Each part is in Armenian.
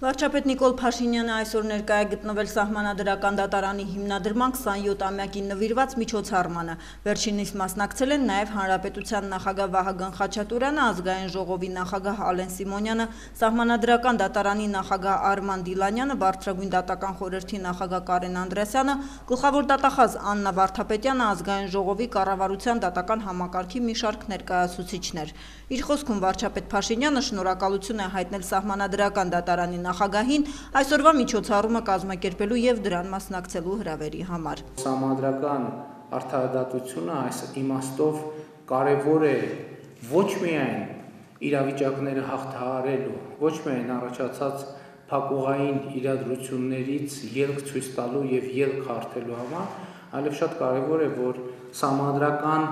Վարչապետ Նիկոլ Փաշինյանը այսօր ներկայ է գտնվել Սահմանադրական դատարանի հիմնադրման 27-ամյակին նվիրված միջոցառմանը։ Վերջինիս մասնակցել են նաև Հանրապետության նախագահ Վահագն Խաչատուրյանը, Ազգային ժողովի նախագահ Ալեն Սիմոնյանը, Սահմանադրական դատարանի նախագահ Արման Դիլանյանը, Բարձրագույն դատական խորհրդի նախագահ Կարեն Անդրեասյանը, գլխավոր դատախազ Աննա Վարդապետյանը, Ազգային ժողովի կառավարության դատական համակարգի մի շարք ներկայացուցիչներ։ Իր խոսքում վարչապետ Փաշինյանը շնորհակալություն է հայտնել Սահմանադրական դատարանի նախագահին այսօրվա միջոցառումը կազմակերպելու եւ դրան մասնակցելու հրավերի համար։ Սահմանադրական արդարադատությունը այս իմաստով կարևոր է ոչ միայն իրավիճակները հաղթահարելու, ոչ միայն առաջացած փակուղային իրադրություններից ելք ցույց տալու եւ ելք հարթելու համար, այլև շատ կարևոր է, որ սահմանադրական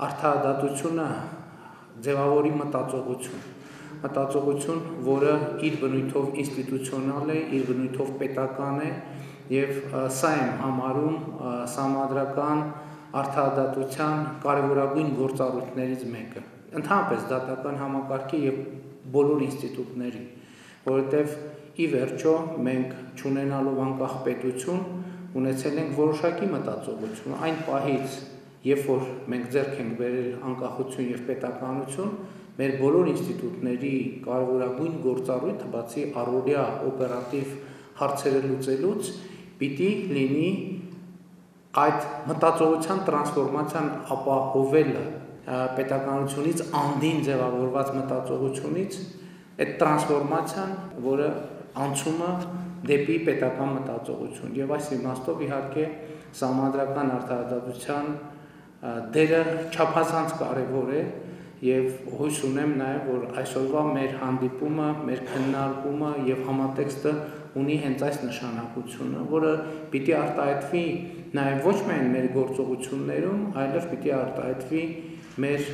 արդարադատությունը ձևավորի մտածողություն, որը իր բնույթով ինստիտուցիոնալ է, իր բնույթով պետական է եւ սա եմ համարում սահմանադրական արդարադատության կարևորագույն գործառույթներից մեկը։ Ընդհանրապես դատական համակարգի եւ բոլոր ինստիտուտների, որովհետեւ ի վերջո մենք չունենալով անկախ պետություն ունեցել ենք որոշակի մտածողություն այն պահից, երբ որ մենք ձեռք ենք բերել անկախություն եւ պետականություն, մեր բոլոր ինստիտուտների կարևորագույն գործառույթը բացի առօրյա օպերատիվ հարցերը լուծելուց պիտի լինի այդ մտածողության տրանսֆորմացիան ապահովելը պետականությունից անդին ձևավորված մտածողությունից այդ տրանսֆորմացիան, որը անցումը դեպի պետական մտածողություն եւ այս իմաստով իհարկե սահմանադրական արդարադատության դերը չափազանց կարևոր է եւ հույս ունեմ նաեւ որ այսօրվա մեր հանդիպումը, մեր քննարկումը եւ համատեքստը ունի հենց այս նշանակությունը, որը պիտի արտահայտվի նաեւ ոչ միայն մեր գործողություններում, այլև պիտի արտահայտվի մեր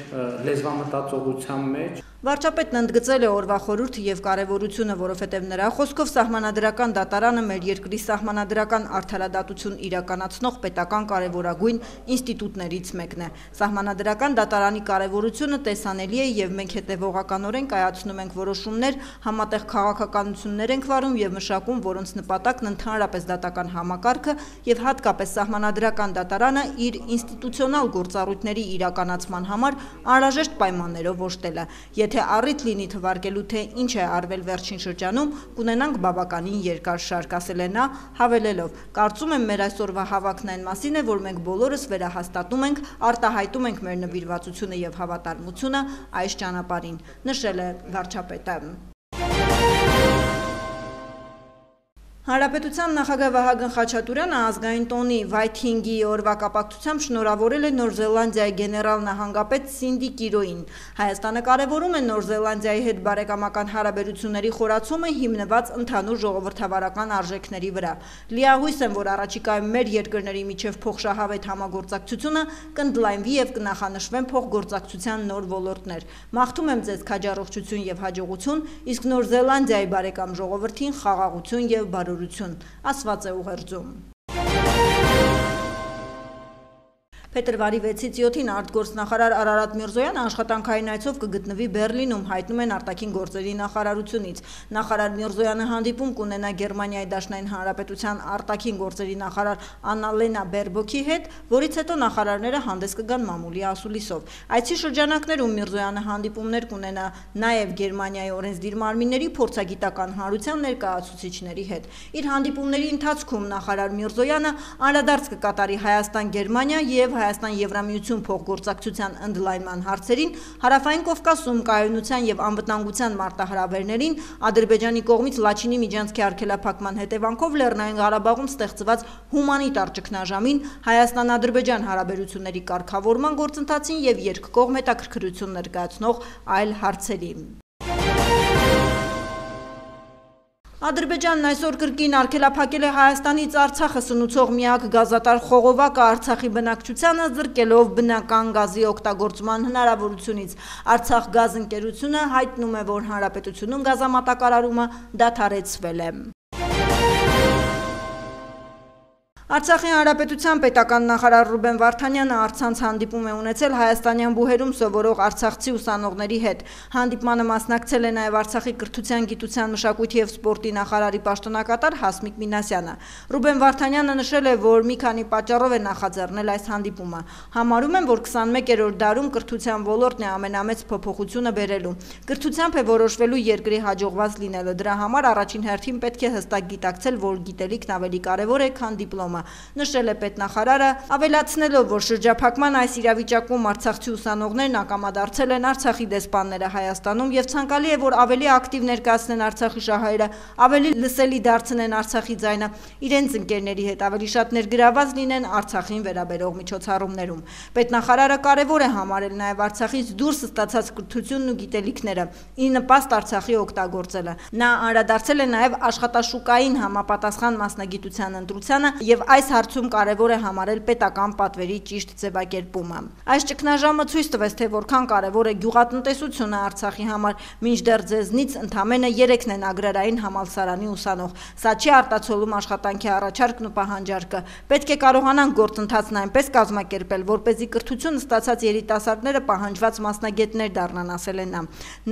լեզվամտածողության մեջ։ Վարչապետն ընդգծել է օրվա խորհուրդը եւ կարեւորությունը, որովհետեւ նրա խոսքով Սահմանադրական դատարանը մեր երկրի սահմանադրական արդարադատություն իրականացնող պետական կարեւորագույն ինստիտուտներից մեկն է։ Սահմանադրական դատարանի կարեւորությունը տեսանելի է եւ մենք հետեւողականորեն կայացնում ենք որոշումներ, համատեղ քաղաքականություններ ենք վարում եւ մշակում, որոնց նպատակն ընդհանրապես դատական համակարգը եւ հատկապես Սահմանադրական դատարանը իր ինստիտուցիոնալ գործառույթների իրականացման համար անհրաժեշտ պայմաններով օժտելը։ Եթե առիթ լինի թվարկելու, թե ինչ է արվել վերջին շրջանում, կունենանք բավականին երկար շարք, ասել է նա, հավելելով. կարծում եմ մեր այսօրվա հավաքն այն մասին է, որ մենք բոլորս վերահաստատում ենք, արտահայտում ենք մեր նվիրվածությունը եւ հավատարմությունը այս ճանապարհին, նշել է վարչապետը։ Հանրապետության նախագահ Վահագն Խաչատուրյանը ազգային տոնի Վայթինգի օրվա կապակցությամբ շնորհավորել է Նոր Զելանդիայի գեներալ նահանգապետ Սինդի Կիրոյին։ Հայաստանը կարևորում է Նոր Զելանդիայի հետ բարեկամական հարաբերությունների խորացումը հիմնված ընդհանուր ժողովրդավարական արժեքների վրա։ Լիահույս եմ, որ առաջիկայում մեր երկրների միջև փոխշահավետ համագործակցությունը կընդլայնվի եւ կնախանշվեն փոխգործակցության նոր ոլորտներ։ Մաղթում եմ ձեզ քաջառողջություն եւ հաջողություն, իսկ Նոր Զելանդիայի բարեկամ ժողովրդին խաղաղություն եւ բարօրություն, ասված է ուղերձում։ Փետրվարի 6-ից 7-ին արտգործնախարար Արարատ Միրզոյանը աշխատանքային այցով կգտնվի Բեռլինում, հայտնում են արտաքին գործերի նախարարությունից։ Նախարար Միրզոյանը հանդիպում կունենա Գերմանիայի Դաշնային Հանրապետության արտաքին գործերի նախարար Աննալենա Բերբոքի հետ, որից հետո նախարարները հանդես կգան մամուլի ասուլիսով։ Այցի շրջանակներում Միրզոյանը հանդիպումներ կունենա նաև Գերմանիայի օրենսդիր մարմինների փորձագիտական հանրության ներկայացուցիչների հետ։ Իր հանդիպումների ընթացքում նախարար Միրզոյանը անդրադարձ կկատարի Հայաստան-Գերմանիա եւ Հայաստան-Եվրամիություն փոխգործակցության ընդլայնման հարցերին, Հարավային Կովկասում կայունության եւ անվտանգության մարտահրավերներին, Ադրբեջանի կողմից Լաչինի միջանցքի արգելափակման հետևանքով Լեռնային Ղարաբաղում ստեղծված հումանիտար ճգնաժամին, Հայաստան-Ադրբեջան հարաբերությունների կարգավորման գործընթացին եւ երկկողմ հետաքրքրություն ներկայացնող այլ հարցերի։ Ադրբեջանն այսօր կրկին արգելափակել է Հայաստանից Արցախը սնուցող միակ գազատար խողովակը Արցախի բնակչությանը զրկելով բնական գազի օգտագործման հնարավորությունից։ Արցախ գազ ընկերությունը հայտնում է, որ հանրապետությունում գազամատակարարումը դադարեցվել է։ Արցախի հանրապետության պետական նախարար Ռուբեն Վարդանյանը առցանց հանդիպում է ունեցել հայաստանյան բուհերում սովորող արցախցի ուսանողների հետ։ Հանդիպմանը մասնակցել է նաև Արցախի կրթության, գիտության, մշակույթի և սպորտի նախարարի պաշտոնակատար Հասմիկ Մինասյանը։ Ռուբեն Վարդանյանը նշել է, որ մի քանի պատճառով է նախաձեռնել այս հանդիպումը։ Համարում են, որ 21-րդ դարում կրթության ոլորտն է ամենամեծ փոփոխությունը բերելու։ Կրթությամբ է որոշվելու երկրի հաջողված լինելը։ Դրա համար առաջին հերթին պետք է հստակ գիտակցել, որ գիտելիքն ավելի կարևոր է, քան դիպլոմը։ Նշել է պետնախարարը, ավելացնելով, որ շրջափակման այս իրավիճակում արցախցի ուսանողներն ակամադարձել են Արցախի դեսպանները Հայաստանում և ցանկալի է, որ ավելի ակտիվ ներկայացնեն Արցախի շահերը, ավելի լսելի դարձնեն Արցախի ձայնը, իրենց ընկերների հետ ավելի շատ ներգրավված լինեն Արցախին վերաբերող միջոցառումներում։ Պետնախարարը կարևոր է համարել նաև Արցախից դուրս ստացած կրթությունն ու գիտելիքները, ի նպաստ Արցախի օգտագործելը։ Նա անդրադարձել է նաև աշխատաշուկային համապատասխան մասնագիտության ընտրությանը և այս հարցում կարևոր է համարել պետական պատվերի ճիշտ ձևակերպումը։ Այս ճգնաժամը ցույց տվեց, թե որքան կարևոր է գյուղատնտեսությունը Արցախի համար, մինչդեռ ձեզնից ընդամենը 3-ն են agrarային համալսարանի ուսանող։ Սա չի արտացոլում աշխատանքի առաջարկն ու պահանջարկը։ Պետք է կարողանանք գործընթացն այնպես կազմակերպել, որպեսզի կրթություն ստացած երիտասարդները պահանջված մասնագետներ դառնան, ասել է նա։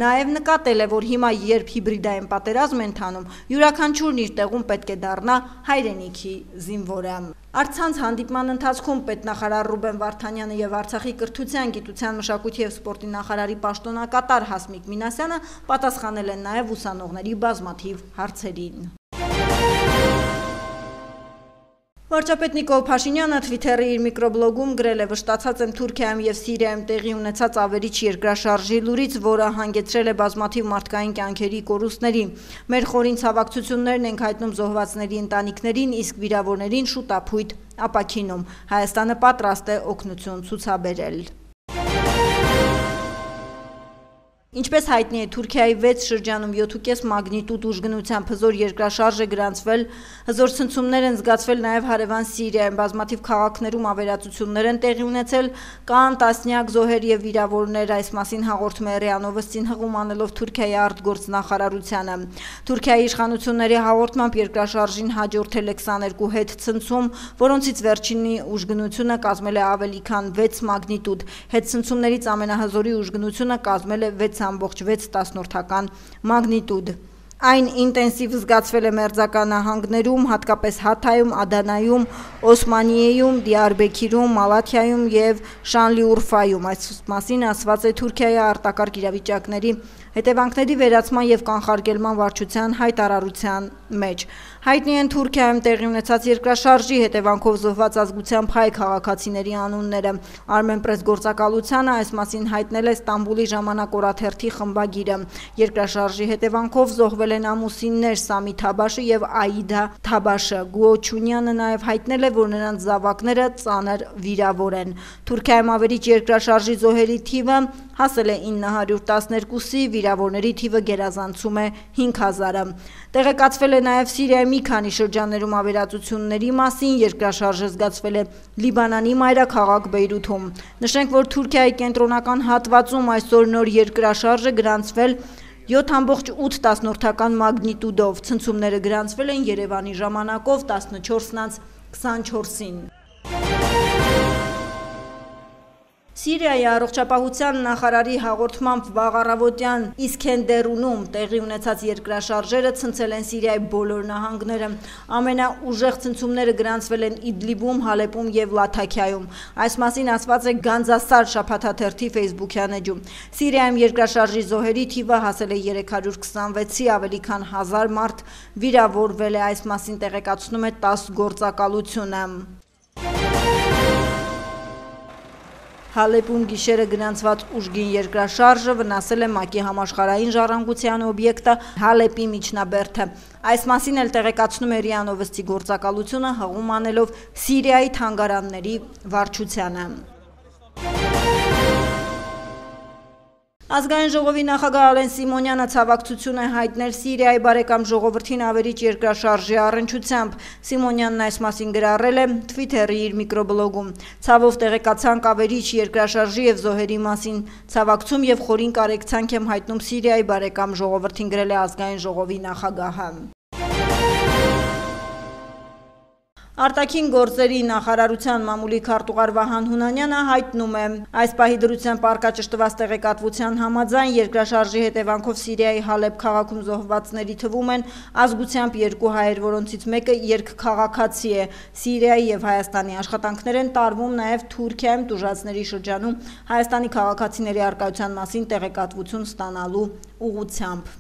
Նաև նկատել է, որ հիմա, երբ հիբրիդային պատերազմ է ընթանում, յուրաքանչյուրն իր տեղում պետք է դառնա հայրենիքի զինվորը։ Առցանց հանդիպման ընթացքում պետնախարար Ռուբեն Վարդանյանը և Արցախի կրթության, գիտության, մշակույթի և սպորտի նախարարի պաշտոնակատար Հասմիկ Մինասյանը պատասխանել են նաև ուսանողների բազմաթիվ հարցերին։ Վարչապետ Նիկոլ Փաշինյանը Թվիթերի իր միկրոբլոգում գրել է. «Վշտացած եմ Թուրքիայում և Սիրիայում տեղի ունեցած ավերիչ երկրաշարժի լուրից, որը հանգեցրել է բազմաթիվ մարդկային կյանքերի կորուստների։ Մեր խորին ցավակցություններն ենք հայտնում զոհվածների ընտանիքներին, իսկ վիրավորներին շուտապույտ ապաքինում։ Հայաստանը պատրաստ է օգնություն ցուցաբերել»։ Ինչպես հայտնի է, Թուրքիայի 6 շրջանում 7,5 մագնիտուդ ուժգնությամբ հզոր երկրաշարժ է գրանցվել, հզոր ցնցումներ են զգացվել նաև հարևան Սիրիայում, բազմաթիվ քաղաքներում ավերածություններ են տեղի ունեցել, կան տասնյակ զոհեր և վիրավորներ, այս մասին հաղորդում է ՌԻԱ Նովոստին հղում անելով Թուրքիայի արտգործնախարարությանը։ Թուրքիայի իշխանությունների հաղորդմամբ երկրաշարժին հաջորդել է 22 հետցնցում, որոնցից վերջինի ուժգնությունը կազմել է ավելի քան 6 մագնիտուդ։ Հետցնցումներից ամենահզորի ուժգնությունը կազմել է 6,6 մագնիտուդ։ Այն ինտենսիվ զգացվել է Մերձական նահանգներում, հատկապես Հաթայում, Ադանայում, Օսմանիեում, Դիարբեքիրում, Մալաթիայում և Շանլիուրֆայում։ Այս մասին ասված է Թուրքիայի արտակարգ իրավիճակների հետևանքների վերացման և կանխարգելման վարչության հայտարարության մեջ։ Հայտնի են Թուրքիայում տեղի ունեցած երկրաշարժի հետևանքով զոհված ազգությամբ հայ քաղաքացիների անունները։ Armenpress գործակալությանը այս մասին հայտնել է Ստամբուլի ժամանակ օրաթերթի խմբագիրը։ Երկրաշարժի հետևանքով զոհվել են ամուսիններ Սամի Թաբաշը և Աիդա Թաբաշը։ Գուոչունյանը նաև հայտնել է, որ նրանց զավակները ծանր վիրավոր են։ Թուրքիայում ավերիչ երկրաշարժի զոհերի թիվը հասել է 912-ի, վիրավորների թիվը գերազանցում է 5000-ը։ Տեղեկացվել է նաև Սիրիայի մի քանի շրջաններում ավերածությունների մասին, երկրաշարժը զգացվել է Լիբանանի մայրաքաղաք Բեյրութում։ Նշենք, որ Թուրքիայի կենտրոնական հատվածում այսօր նոր երկրաշարժ է գրանցվել 7,8 մագնիտուդով, ցնցումները գրանցվել են Երևանի ժամանակով 14:24-ին։ Սիրիայի առողջապահության նախարարի հաղորդմամբ վաղ առավոտյան Իսքենդերունում տեղի ունեցած երկրաշարժերը ցնցել են Սիրիայի բոլոր նահանգները։ Ամենաուժեղ ցնցումները գրանցվել են Իդլիբում, Հալեպում և Լաթաքիայում։ Այս մասին ասված է Գանձասար շաբաթաթերթի ֆեյսբուքյան էջում։ Սիրիայում երկրաշարժի զոհերի թիվը հասել է 326-ի, ավելի քան 1000 մարդ վիրավորվել է, այս մասին տեղեկացնում է ՏԱՍՍ գործակալությունը։ Հալեպում գիշերը գրանցված ուժգին երկրաշարժը վնասել է ՄԱԿ-ի համաշխարհային ժառանգության օբյեկտը Հալեպի միջնաբերդը։ Այս մասին էլ տեղեկացնում է ՌԻԱ Նովոստի գործակալությունը հղում անելով Սիրիայի թանգարանների վարչությանը։ Ազգային ժողովի նախագահ Ալեն Սիմոնյանը ցավակցություն է հայտնել Սիրիայի բարեկամ ժողովրդին ավերիչ երկրաշարժի առնչությամբ։ Սիմոնյանն այս մասին գրառել է Թվիթերի իր միկրոբլոգում։ Ցավով տեղեկացանք ավերիչ երկրաշարժի և զոհերի մասին։ Ցավակցում և խորին կարեկցանք եմ հայտնում Սիրիայի բարեկամ ժողովրդին, գրել է ազգային ժողովի նախագահը։ Արտաքին գործերի նախարարության մամուլի քարտուղար Վահան Հունանյանը հայտնում է, այս պահի դրությամբ արկաճշտված տեղեկատվության համաձայն երկրաշարժի հետևանքով Սիրիայի Հալեբ քաղաքում զոհվածների թվում են ազգությամբ 2 հայեր, որոնցից մեկը երկքաղաքացի է։ Սիրիայի եւ Հայաստանի աշխատանքներ են տարվում նաև Թուրքիայում տուժածների շրջանում Հայաստանի քաղաքացիների առկայության մասին տեղեկատվություն ստանալու ուղղությամբ։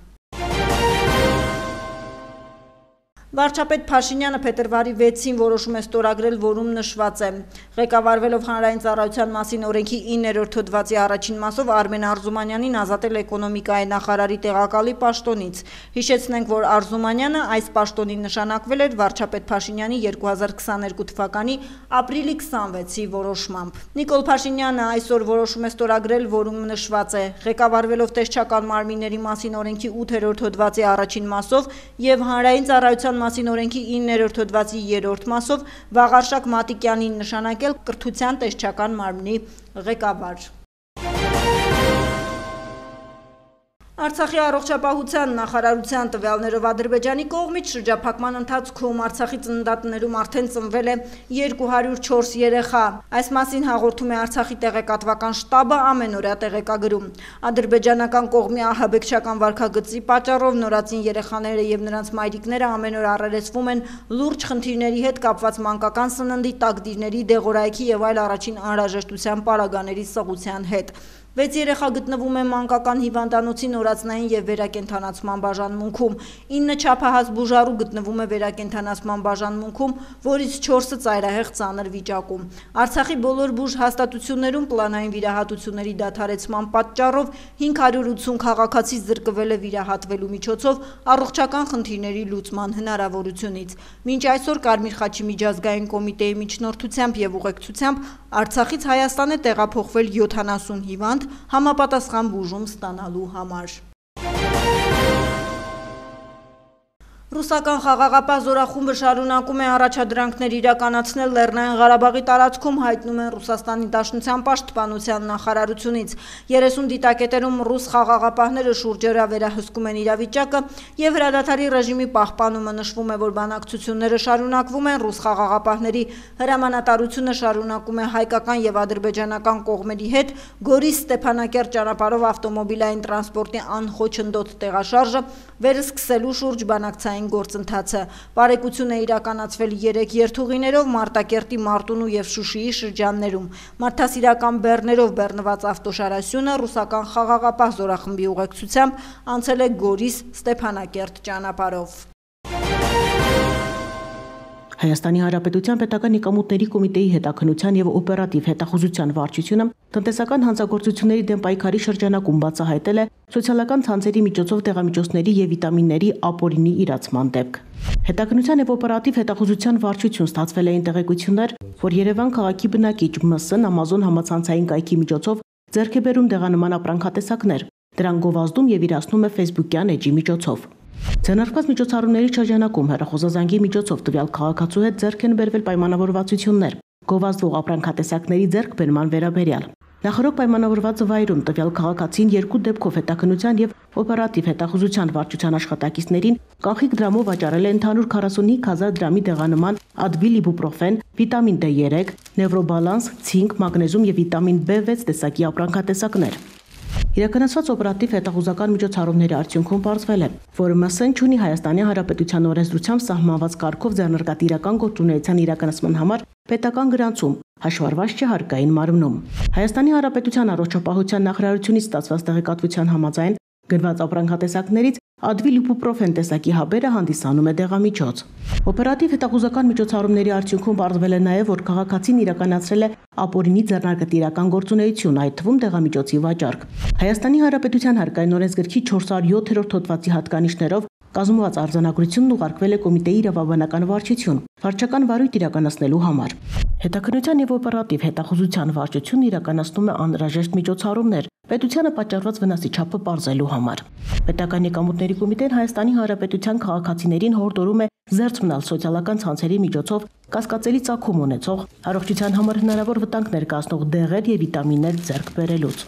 Վարչապետ Փաշինյանը փետրվարի 6-ին որոշում է ստորագրել, որում նշված է. Ղեկավարվելով Հանրային ծառայության մասին օրենքի 9-րդ հոդվածի առաջին մասով Արմեն Արզումանյանին ազատել էկոնոմիկայի նախարարի տեղակալի պաշտոնից։ Հիշեցնենք, որ Արզումանյանը այս պաշտոնին նշանակվել էր վարչապետ Փաշինյանի 2022 թվականի ապրիլի 26-ի որոշմամբ։ Նիկոլ Փաշինյանը այսօր որոշում է ստորագրել, որում նշված է. Ղեկավարվելով տեսչական մարմինների մասին օրենքի 8-րդ հոդվածի առաջին մասով եւ Հանրային ծառայության մասին օրենքի 9-րդ հոդվածի 3-րդ մասով Վաղարշակ Մատիկյանին նշանակել կրթության տեսչական մարմնի ղեկավար։ Արցախի առողջապահության նախարարության տվյալներով Ադրբեջանի կողմից շրջափակման ընթացքում Արցախի ծննդատներում արդեն ծնվել է 204 երեխա։ Այս մասին հաղորդում է Արցախի տեղեկատվական շտաբը ամենօրյա տեղեկագրում։ Ադրբեջանական կողմի ահաբեկչական վարքագծի պատճառով նորածին երեխաները եւ նրանց մայրիկները ամեն օր առերեսվում են լուրջ խնդիրների հետ կապված մանկական սննդի, տակդիրների, դեղորայքի եւ այլ առաջին անհրաժեշտության պարագաների սղության հետ։ 6 երեխա գտնվում է մանկական հիվանդանոցի նորածնային եւ վերակենդանացման բաժանմունքում, 9 չափահաս բուժարու գտնվում է վերակենդանացման բաժանմունքում, որից 4-ը ծայրահեղ ծանր վիճակում։ Արցախի բոլոր բուժ հաստատություններում պլանային վիրահատությունների դադարեցման պատճառով 580 քաղաքացի զրկվել է վիրահատվելու միջոցով առողջական խնդիրների լուծման հնարավորությունից։ Մինչ այսօր Կարմիր խաչի միջազգային կոմիտեի միջնորդությամբ եւ ուղեկցությամբ Արցախից Հայաստան է տեղափոխվել 70 հիվանդ համապատասխան բուժում ստանալու համար։ Ռուսական խաղաղապահ զորախումբը շարունակում է առաջադրանքներ իրականացնել Լեռնային Ղարաբաղի տարածքում, հայտնում են Ռուսաստանի Դաշնության պաշտպանության նախարարությունից։ 30 դիտակետերում ռուս խաղաղապահները շուրջօրյա վերահսկում են իրավիճակը եւ հրադադարի ռեժիմի պահպանումը նշվում է, որ բանակցությունները շարունակվում են, ռուս խաղաղապահների հրամանատարությունը շարունակում է հայկական եւ ադրբեջանական կողմերի հետ Գորիս-Ստեփանակերտ ճանապարհով ավտոմոբիլային տրանսպորտի անխոչնդոտ տեղաշարժը վերսկսելու շուրջ բանակցային գործընթացը։ Բարեկություն է իրականացվել 3 երթուղիներով Մարտակերտի, Մարտունու եւ Շուշիի շրջաններում։ Մարդասիրական բեռներով բեռնված ավտոշարասյունը ռուսական խաղաղապահ զորախմբի ուղեկցությամբ անցել է Գորիս-Ստեփանակերտ ճանապարհով։ Հայաստանի Հանրապետության պետական եկամուտների կոմիտեի հետաքննության եւ օպերատիվ հետախուզության վարչությունը տնտեսական հանցագործությունների դեմ պայքարի շրջանակում բացահայտել է սոցիալական ցանցերի միջոցով դեղամիջոցների եւ վիտամինների ապօրինի իրացման դեպք։ Հետաքննության եւ օպերատիվ հետախուզության վարչություն ստացվել էին տեղեկություններ, որ Երևան քաղաքի բնակիչ ՄՍ-ն Amazon համացանցային կայքի միջոցով ձեռք է բերում դեղանման ապրանքատեսակներ, դրանք գովազդում եւ իրացնում է Facebook-յան էջի միջոցով։ Ձեռնարկված միջոցառումների շրջանակում հեռախոսազանգի միջոցով տվյալ քաղաքացու հետ ձեռք են բերվել պայմանավորվածություններ գովազդվող ապրանքատեսակների ձեռքբերման վերաբերյալ։ Նախորդ պայմանավորված վայրում տվյալ քաղաքացին 2 դեպքով հետաքննության եւ օպերատիվ հետախուզության վարչության աշխատակիցներին կանխիկ դրամով վաճառել է ընդհանուր 45000 դրամի դեղանման Advil իբուպրոֆեն, վիտամին D3, նևրոբալանս, ցինկ, մագնեզիում եւ վիտամին B6 տեսակի ապրանքատեսակներ։ Իրականացված օպերատիվ հետախուզական միջոցառումների արդյունքում պարզվել է, որ ՄՍ-ն ունի Հայաստանի Հանրապետության օրենսդրությամբ սահմանված կարգով ձեռնարկած իրական գործունեության իրականացման համար պետական գրանցում, հաշվառված չէ հարկային մարմնում։ Հայաստանի Հանրապետության առողջապահության նախարարությունից ստացված տեղեկատվության համաձայն գնված ապրանքատեսակներից Advil իբուպրոֆեն տեսակի հաբերը հանդիսանում է դեղամիջոց։ Օպերատիվ հետախուզական միջոցառումների արդյունքում պարզվել է նաև, որ քաղաքացին իրականացրել է ապօրինի ձեռնարկատիրական գործունեություն, այդ թվում դեղամիջոցի վաճառք։ Հայաստանի Հանրապետության հարկային օրենսգրքի 407-րդ հոդվածի հատկանիշներով կազմված արձանագրությունն ուղարկվել է կոմիտեի իրավաբանական վարչություն, վարչական վարույթ իրականացնելու համար։ Հետաքննության եւ օպերատիվ հետախուզության վարչությունն իրականացնում է անհրաժեշտ միջոցառումներ պետությանը պատճառված վնասի չափը պարզելու համար։ Պետական եկամուտների կոմիտեն Հայաստանի Հանրապետության քաղաքացիներին հորդորում է զերծ մնալ սոցիալական ցանցերի միջոցով կասկածելի ծագում ունեցող առողջության համար հնարավոր վտանգ ներկայացնող դեղեր եւ վիտամիններ ձեռք բերելուց։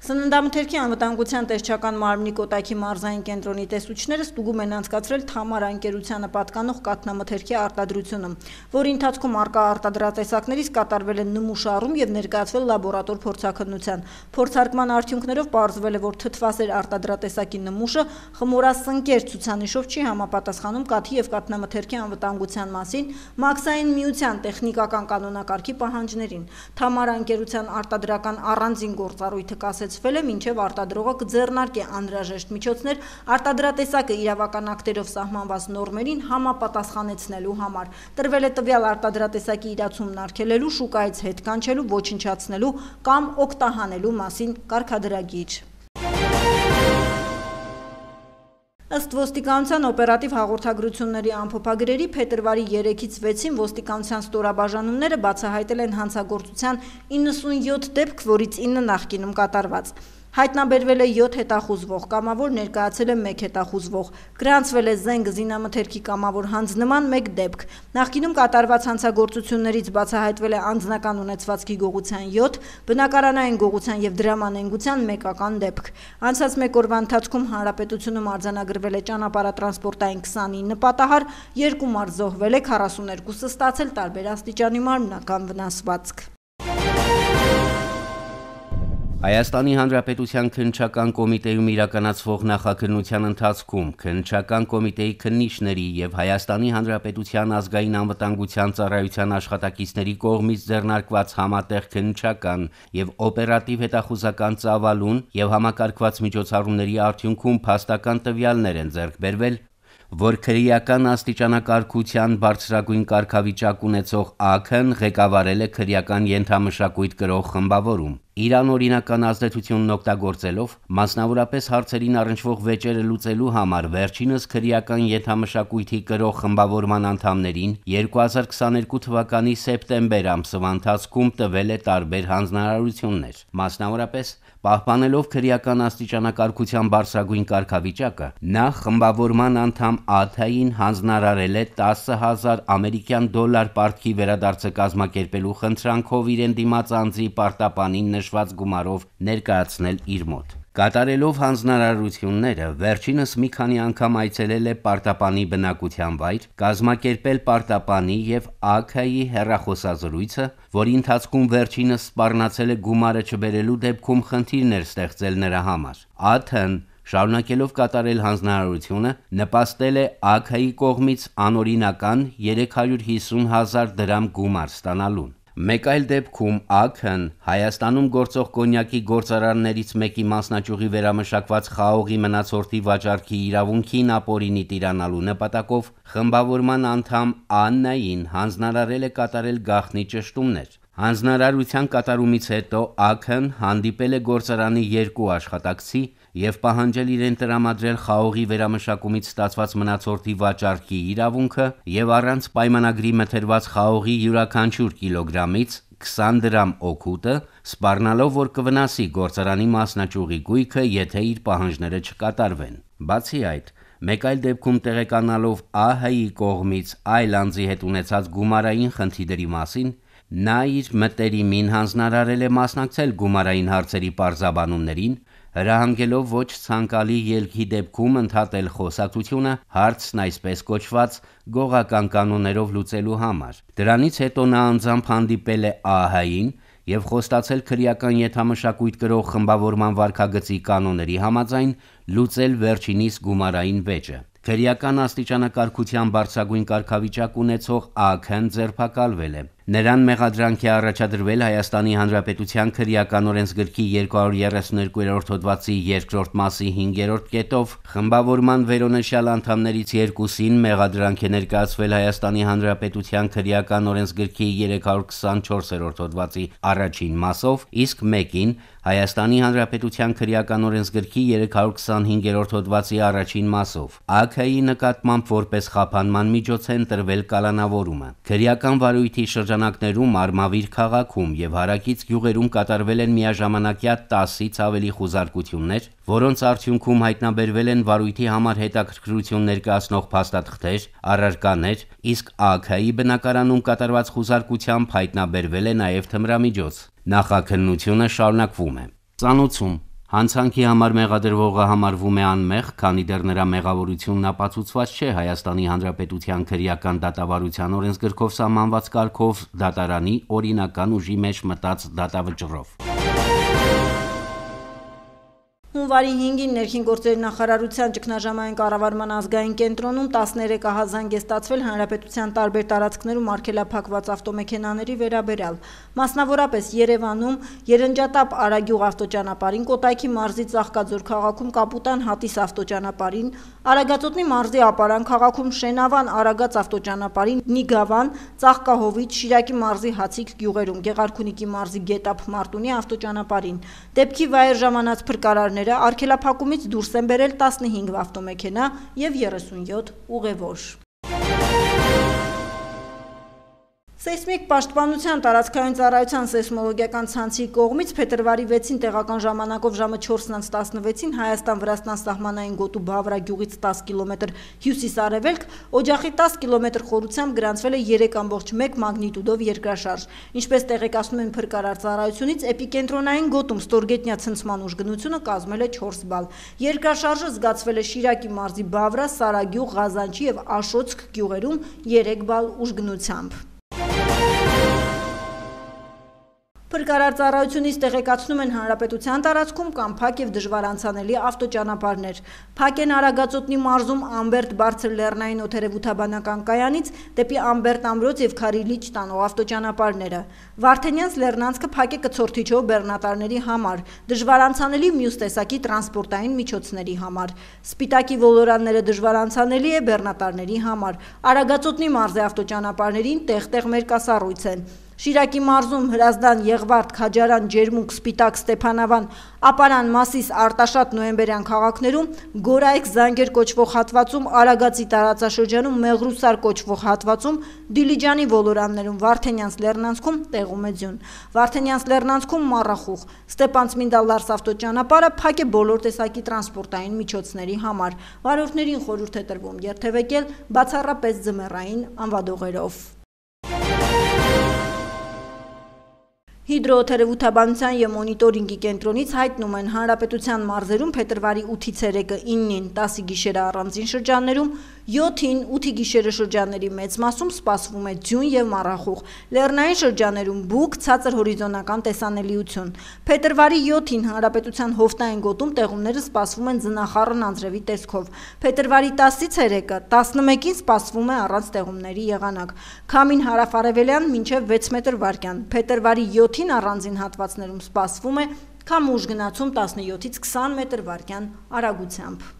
Սննդամթերքի անվտանգության տեսչական մարմնի Կոտայքի մարզային կենտրոնի տեսուչները ստուգում են անցկացրել Թամարա ընկերությանը պատկանող կաթնամթերքի արտադրությունը, որի ընթացքում առկա արտադրատեսակներից կատարվել է նմուշառում եւ ներկայացվել լաբորատոր փորձաքննության։ Փորձարկման արդյունքներով պարզվել է, որ թթվասեր արտադրատեսակի նմուշը խմորասնկեր ցուցանիշով չի համապատասխանում կաթի եւ կաթնամթերքի անվտանգության մասին Մաքսային միության տեխնիկական կանոնակարգի պահանջներին։ Թամարա ընկերության արտադրական առանձին գործառույթը կասեցվել է, մինչև արտադրողը կձեռնարկի անհրաժեշտ միջոցներ արտադրատեսակը իրավական ակտերով սահմանված նորմերին համապատասխանեցնելու համար։ Տրվել է տվյալ արտադրատեսակի իրացումն արգելելու, շուկայից հետ կանչելու, ոչնչացնելու կամ օգտահանելու մասին կարգադրագիր։ Ըստ ոստիկանության օպերատիվ հաղորդագրությունների ամփոփագրերի փետրվարի 3-ից 6-ին ոստիկանության ստորաբաժանումները բացահայտել են հանցագործության 97 դեպք, որից 9 նախկինում կատարված։ Հայտնաբերվել է 7 հետախուզվող, կամավոր ներկայացել է 1 հետախուզվող, գրանցվել է զենք զինամթերքի կամավոր հանձնման 1 դեպք։ Նախկինում կատարված հանցագործություններից բացահայտվել է անձնական ունեցվածքի գողության 7, բնակարանային գողության եւ դրամանենգության 1-ական դեպք։ Անցած 1 օրվա ընթացքում հանրապետությունում արձանագրվել է ճանապարհատրանսպորտային 29 պատահար, 2 մարդ զոհվել է, 42-ը ստացել տարբեր աստիճանի մարմնական վնասվածք։ Հայաստանի Հանրապետության քննչական կոմիտեում իրականացվող նախաքննության ընթացքում քննչական կոմիտեի քննիչների եւ Հայաստանի Հանրապետության ազգային անվտանգության ծառայության աշխատակիցների կողմից ձեռնարկված համատեղ քննչական եւ օպերատիվ հետախուզական ծավալուն եւ համակարգված միջոցառումների արդյունքում փաստական տվյալներ են ձեռք բերվել, որ քրեական աստիճանակարգության բարձրագույն կարգավիճակ ունեցող ԱՔ-ն ղեկավարել է քրեական ենթամշակույթ կրող խմբավորում։ Իր անօրինական ազդեցությունն օգտագործելով, մասնավորապես հարցերին առնչվող վեճերը լուծելու համար վերջինս քրեական ենթամշակույթի կրող խմբավորման անդամներին 2022 թվականի սեպտեմբեր ամսվա ընթացքում տվել է տարբեր հանձնարարություններ։ Մասնավորապես, պահպանելով քրեական աստիճանակարգության բարձրագույն կարգավիճակը, նա խմբավորման անդամ ԱԹ-ին հանձնարարել է 10,000 ամերիկյան դոլար պարտքի վերադարձը կազմակերպելու խնդրանքով իրեն դիմաց անձի պարտապանին նշված գումարով ներկայացնել իր մոտ։ Կատարելով հանձնարարությունները, վերջինս մի քանի անգամ այցելել է պարտապանի բնակության վայր, կազմակերպել պարտապանի եւ ԱՔ-ի հեռախոսազրույցը, որի ընթացքում վերջինս սպառնացել է գումարը չբերելու դեպքում խնդիրներ ստեղծել նրա համար։ ԱԹ-ն շարունակելով կատարել հանձնարարությունը, նպաստել է ԱՔ-ի կողմից անօրինական 350,000 դրամ գումար ստանալուն։ Մեկ այլ դեպքում ԱՔ-ն Հայաստանում գործող կոնյակի գործարաններից մեկի մասնաճյուղի վերամշակված խաղողի մնացորդի վաճառքի իրավունքին ապօրինի տիրանալու նպատակով խմբավորման անդամ Աննային հանձնարարել է կատարել գաղտնի ճշտումներ։ Հանձնարարության կատարումից հետո ԱՔ-ն հանդիպել է գործարանի 2 աշխատակցի եւ պահանջել իրեն տրամադրել խաղողի վերամշակումից ստացված մնացորդի վաճառքի իրավունքը եւ առանց պայմանագրի մթերված խաղողի յուրաքանչյուր կիլոգրամից 20 դրամ օգուտը, սպառնալով, որ կվնասի գործարանի մասնաճյուղի գույքը, եթե իր պահանջները չկատարվեն։ Բացի այդ, մեկ այլ դեպքում տեղեկանալով ԱՀ-ի կողմից այլ անձի հետ ունեցած գումարային խնդիրների մասին, նա իր մտերիմին հանձնարարել է մասնակցել գումարային հարցերի պարզաբանումներին, հրահանգելով ոչ ցանկալի ելքի դեպքում ընդհատել խոսակցությունը հարցն այսպես կոչված գողական կանոններով լուծելու համար։ Դրանից հետո նա անձամբ հանդիպել է ԱՀ-ին եւ խոստացել քրեական ենթամշակույթ կրող խմբավորման վարքագծի կանոնների համաձայն լուծել վերջինիս գումարային վեճը։ Քրեական աստիճանակարգության բարձրագույն կարգավիճակ ունեցող ԱՔ-ն ձերբակալվել է։ Նրան մեղադրանք է առաջադրվել Հայաստանի Հանրապետության քրեական օրենսգրքի 232-րդ հոդվածի 2-րդ մասի 5-րդ կետով խմբավորման վերոնշյալ անդամներից 2-ին մեղադրանք է ներկայացվել Հայաստանի Հանրապետության քրեական օրենսգրքի 324-րդ հոդվածի առաջին մասով, իսկ մեկին Հայաստանի Հանրապետության քրեական օրենսգրքի 325-րդ հոդվածի առաջին մասով։ ԱՔ-ի նկատմամբ որպես խափանման միջոց են տրվել կալանավորումը։ Քրեական վարույթի շրջանակներում Արմավիր քաղաքում եւ հարակից գյուղերում կատարվել են միաժամանակյա 10-ից ավելի խուզարկություններ, որոնց արդյունքում հայտնաբերվել են վարույթի համար հետաքրքրություն ներկայացնող փաստաթղթեր, առարկաներ, իսկ ԱՔ-ի բնակարանում կատարված խուզարկությամբ հայտնաբերվել է նաեւ թմրամիջոց։ Նախաքննությունը շարունակվում է։ Ծանոցում Հանցանքի համար մեղադրվողը համարվում է անմեղ, քանի դեռ նրա մեղավորությունն ապացուցված չէ Հայաստանի Հանրապետության քրեական դատավարության օրենսգրքով սահմանված կարգով դատարանի օրինական ուժի մեջ մտած դատավճռով։ Հունվարի 5-ին ներքին գործերի նախարարության ճգնաժամային կառավարման ազգային կենտրոնում 13 ահազանգ է ստացվել հանրապետության տարբեր տարածքներում արգելափակված ավտոմեքենաների վերաբերյալ։ Մասնավորապես Երևանում Երնջատապ Արագյուղ ավտոճանապարհին, Կոտայքի մարզի Ծաղկաձոր քաղաքում Կապուտան Հատիս ավտոճանապարհին, Արագածոտնի մարզի Ապարան քաղաքում Շենավան Արագած ավտոճանապարհին, Նիգավան, Ծաղկահովից, Շիրակի մարզի Հացիկ գյուղերում, Գեղարքունիքի մարզի Գետապ Մարտունի ավտոճանապարհին։ Դեպքի վայր ժամանած փրկարարները արգելափակումից դուրս են բերել 15 ավտոմեքենա և 37 ուղևոր։ Սեյսմիկ պաշտպանության տարածքային ծառայության սեյսմոլոգիական ցանցի կողմից փետրվարի 6-ին տեղական ժամանակով ժամը 4:16-ին Հայաստան-Վրաստան սահմանային գոտու Բավրա գյուղից 10 կիլոմետր հյուսիս-արևելք օջախի 10 կիլոմետր խորությամբ գրանցվել է 3.1 մագնիտուդով երկրաշարժ։ Ինչպես տեղեկացնում են փրկարար ծառայությունից, էպիկենտրոնային գոտում ստորգետնյա ցնցման ուժգնությունը կազմել է 4 բալ։ Երկրաշարժը զգացվել է Շիրակի մարզի Բավրա, Սարագյուղ, Ղազանչի և Աշոցք գյուղերում 3 բալ ուժգնությամբ։ Փրկարար ծառայությունից տեղեկացնում են հանրապետության տարածքում կան փակ և դժվար անցանելի ավտոճանապարհներ։ Փակ են Արագածոտնի մարզում Ամբերտ բարձր լեռնային օդերևութաբանական կայանից դեպի Ամբերտ ամրոց և Քարիլիչ տանող ավտոճանապարհները։ Վարդենյանց լեռնանցքը փակ է կցորդիչով բեռնատարների համար, դժվար անցանելի մյուս տեսակի տրանսպորտային միջոցների համար։ Սպիտակի ոլորանները դժվար անցանելի է բեռնատարների համար։ Արագածոտնի մարզի ավտոճանապարհներին տեղ-տեղ մերկասառույց են։ Շիրակի մարզում Հրազդան, Եղվարդ, Քաջարան, Ջերմուկ, Սպիտակ, Ստեփանավան, Ապարան, Մասիս, Արտաշատ, Նոյեմբերյան քաղաքներում, Գորայք, Զանգեր կոչվող հատվածում, Արագածի տարածաշրջանում, Մեղրուսար կոչվող հատվածում, Դիլիջանի ոլորաններում, Վարդենյանց լեռնանցքում տեղում է ձյուն։ Վարդենյանց լեռնանցքում մառախուղ։ Ստեփան-Ծմինդա-Լարս ավտոճանապարհը փակ է բոլոր տեսակի տրանսպորտային միջոցների համար։ Վարորդներին խորհուրդ է տրվում երթևեկել բացառապես ձմեռային անվադողերով։ Հիդրոօդերևութաբանության և մոնիտորինգի կենտրոնից հայտնում են հանրապետության մարզերում փետրվարի 8-ից 3-ը 9-ին 10-ի գիշերը առանձին շրջաններում, 7-ին 8-ի գիշերը շրջանների մեծ մասում սպասվում է ձյուն և մառախուղ, լեռնային շրջաներում բուք, ցածր հորիզոնական տեսանելիություն։ Փետրվարի 7-ին հանրապետության հովտային գոտում տեղումները սպասվում են ձնախառն անձրևի տեսքով։ Փետրվարի 10-ից 3-ը 11-ին սպասվում է առանց տեղումների եղանակ։ Քամին հարավ-արևելյան մինչև 6 մետր վարկյան։ Փետրվարի 7-ին առանձին հատվածներում սպասվում է քամու ուժգնացում 17-ից 20 մետր վարկյան արագությամբ։